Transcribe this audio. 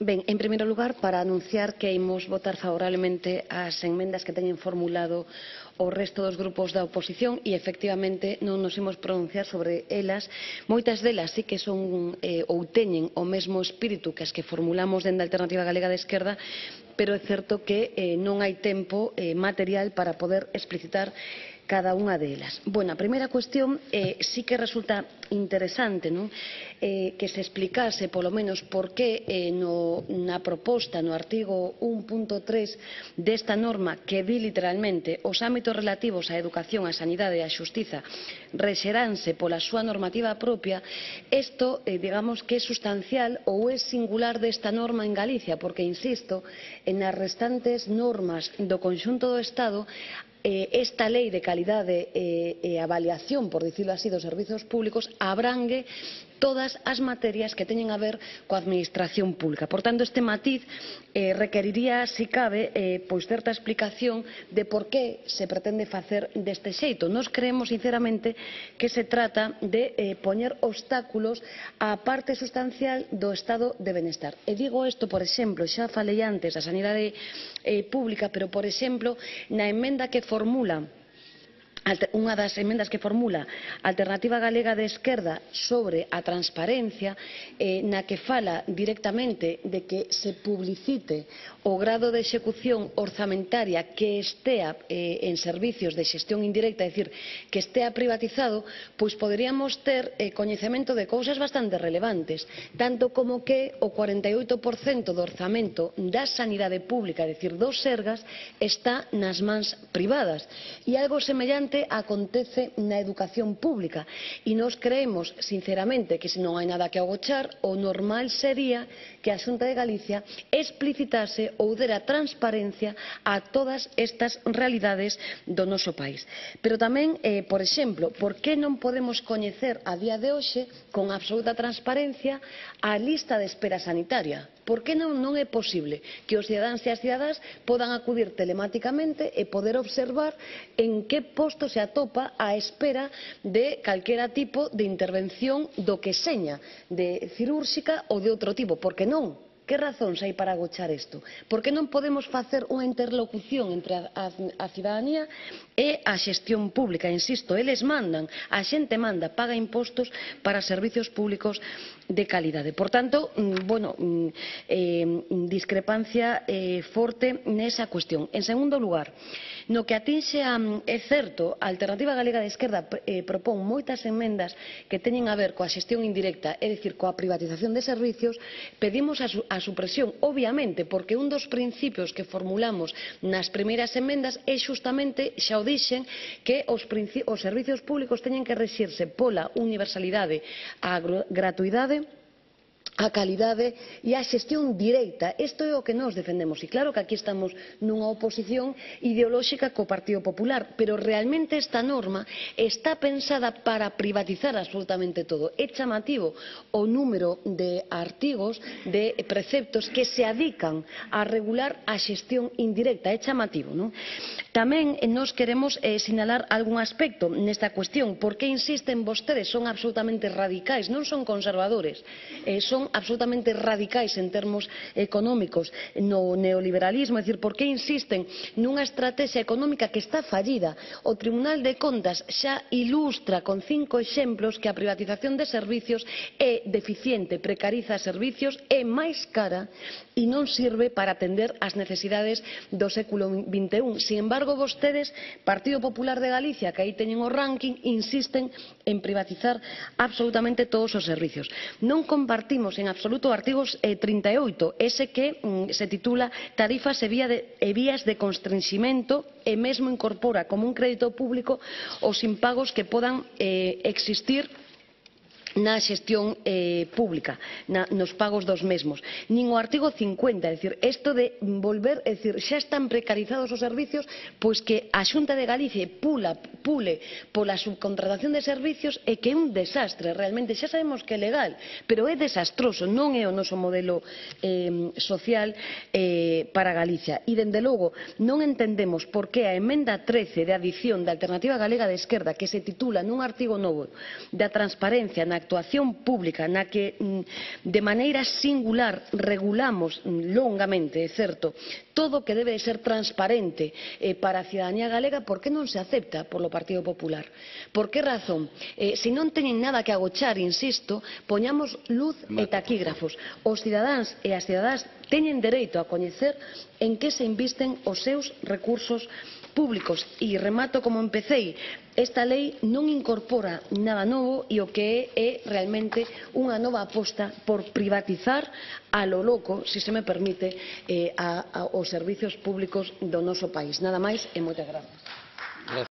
Ben, en primeiro lugar, para anunciar que imos votar favorablemente as enmendas que teñen formulado o resto dos grupos da oposición e, efectivamente, non nos imos pronunciar sobre elas. Moitas delas sí que son ou teñen o mesmo espírito que as que formulamos dende a Alternativa Galega de Esquerda, pero é certo que non hai tempo material para poder explicitar cada unha delas. Bueno, a primeira cuestión sí que resulta interesante, non? Que se explicase, polo menos, por que na proposta, no artigo 1.3 desta norma, que di literalmente os ámbitos relativos á educación, á sanidade e á xustiza rexeranse pola súa normativa propia, isto, digamos, que é sustancial ou é singular desta norma en Galicia, porque, insisto, nas restantes normas do conxunto do Estado, esta lei de calidade e avaliación, por dicilo así, dos servizos públicos abrangue todas as materias que teñen a ver coa administración pública. Por tanto, este matiz requeriría, se cabe, pois certa explicación de por que se pretende facer deste xeito. Nós creemos, sinceramente, que se trata de poñer obstáculos á parte sustancial do estado de benestar. E digo isto, por exemplo, xa falei antes da sanidade pública, pero, por exemplo, na emenda que formula unha das emendas que formula a Alternativa Galega de Esquerda sobre a transparencia, na que fala directamente de que se publicite o grado de execución orzamentaria que estea en servicios de xestión indirecta, é dicir, que estea privatizado, pois poderíamos ter coñecemento de cousas bastante relevantes, tanto como que o 48% do orzamento da sanidade pública, é dicir, dos Sergas, está nas mans privadas. E algo semellante acontece na educación pública e nós creemos, sinceramente, que se non hai nada que agochar, o normal sería que a Xunta de Galicia explicitase ou dera transparencia a todas estas realidades do noso país. Pero tamén, por exemplo, por que non podemos coñecer a día de hoxe con absoluta transparencia a lista de espera sanitaria? Por que non é posible que os cidadáns e as cidadás podan acudir telemáticamente e poder observar en que posto se atopa a espera de calquera tipo de intervención do que seña, de cirúrxica ou de outro tipo? Por que non? Que razóns hai para agochar isto? Por que non podemos facer unha interlocución entre a cidadanía e a xestión pública? Insisto, eles mandan, a xente manda, paga impostos para servicios públicos de calidade. Por tanto, discrepancia forte nesa cuestión. En segundo lugar, no que atinxe é certo, a Alternativa Galega de Esquerda propón moitas emendas que teñen a ver coa xestión indirecta, é dicir, coa privatización de servicios. Pedimos a supresión, obviamente, porque un dos principios que formulamos nas primeiras emendas é xustamente, xa o dixen, que os servicios públicos teñen que rexirse pola universalidade, a gratuidade, a calidade e a xestión directa. Isto é o que nós defendemos. E claro que aquí estamos nunha oposición ideolóxica co Partido Popular, pero realmente esta norma está pensada para privatizar absolutamente todo. É chamativo o número de artigos, de preceptos que se adican a regular a xestión indirecta. É chamativo, non? Tamén nós queremos sinalar algún aspecto nesta cuestión. Por que insisten vostedes? Son absolutamente radicais, non son conservadores, son absolutamente radicais en termos económicos no neoliberalismo, é dicir, por que insisten nunha estrategia económica que está fallida? O Tribunal de Contas xa ilustra con 5 exemplos que a privatización de servicios é deficiente, precariza servicios, é máis cara e non sirve para atender as necesidades do século XXI. Sin embargo, vostedes, Partido Popular de Galicia, que aí teñen o ranking, insisten en privatizar absolutamente todos os servicios. Non compartimos en absoluto o artigo 38, ese que se titula Tarifas e vías de constrenximento, e mesmo incorpora como un crédito público os impagos que podan existir na xestión pública, nos pagos dos mesmos. Nin o artigo 50, é dicir, isto de volver, é dicir, xa están precarizados os servicios, pois que a Xunta de Galicia pule pola subcontratación de servicios e que é un desastre, realmente, xa sabemos que é legal, pero é desastroso, non é o noso modelo social para Galicia. E, dende logo, non entendemos por que a emenda 13 de adición da Alternativa Galega de Esquerda, que se titula nun artigo novo da transparencia na actuación pública, na que de maneira singular regulamos longamente, é certo, todo o que debe de ser transparente para a cidadanía galega, por que non se acepta polo Partido Popular? Por que razón? Se non teñen nada que agochar, insisto, poñamos luz e taquígrafos. Os cidadáns e as cidadás teñen dereito a coñecer en que se invisten os seus recursos públicos. E remato como empecei, esta lei non incorpora nada novo e o que é realmente unha nova aposta por privatizar a lo loco, se se me permite, os servizos públicos do noso país. Nada máis e moitas grazas.